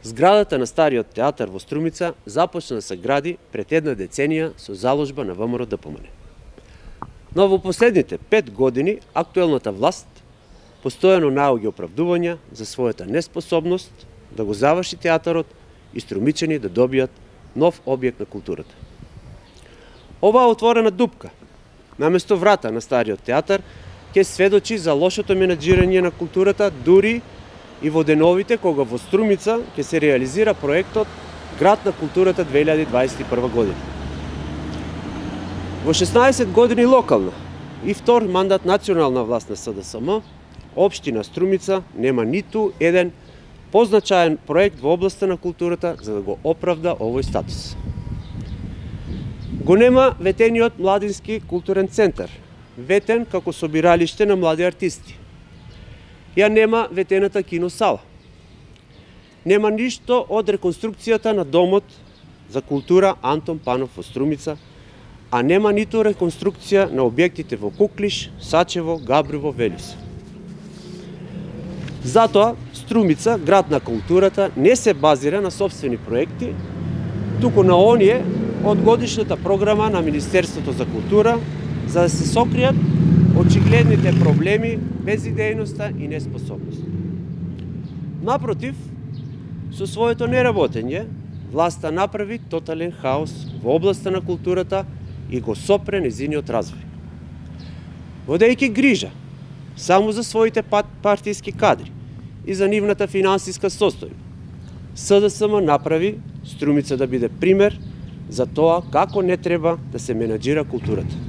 Зградата на стариот театар во Струмица започна да се гради пред една деценија со заложба на ВМРО ДПМН. Но во последните 5 години актуелната власт постојано наоѓа оправдувања за својата неспособност да го заврши театарот и струмичани да добијат нов објект на културата. Оваа отворена дупка, наместо врата на стариот театар, ќе сведочи за лошото менаџирање на културата, дури и во деновите кога во Струмица ќе се реализира проектот Град на културата 2021 година. Во 16 години локална и втор мандат национална власт на СДСМ, општина Струмица нема ниту еден позначаен проект во областа на културата за да го оправда овој статус. Го нема ветениот младински културен центар, ветен како собиралиште на млади артисти. Ја нема ветената киносала. Нема ништо од реконструкцијата на домот за култура Антон Панов во Струмица, а нема ниту реконструкција на објектите во Куклиш, Сачево, Габрово, Велис. Затоа Струмица, град на културата, не се базира на собствени проекти, туку на оние од годишната програма на Министерството за култура, за да се сокријат очигледните проблеми, безидејноста и неспособност. Напротив, со своето неработење, власта направи тотален хаос во областа на културата и го сопре незиниот развој. Водејќи грижа само за своите партиски кадри и за нивната финансиска состојба, СДСМ направи Струмица да биде пример за тоа како не треба да се менаџира културата.